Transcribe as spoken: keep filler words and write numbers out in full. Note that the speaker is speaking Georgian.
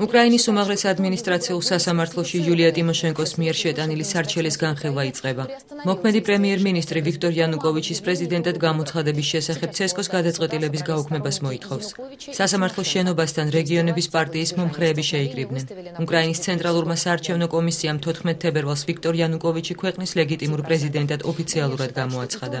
უკრაინის უმაღლეს ადმინისტრაციულ სასამართლოში იულია ტიმოშენკოს მიერ შეტანილი სარჩელის განხილვა იწყება. მოქმედი პრემიერ-მინისტრი ვიქტორ იანუკოვიჩის პრეზიდენტად გამოცხადების შესახებ ცესკოს გადაწყვეტილების გაუქმებას მოითხოვს. სასამართლოს შენობასთან რეგიონების პარტიის მომხრეები შეიკრიბნენ. უკრაინის ცენტრალურმა საარჩევნო კომისიამ თოთხმეტ თებერვალს ვიქტორ იანუკოვიჩი ქვეყნის ლეგიტიმურ პრეზიდენტად ოფიციალურად გამოაცხადა.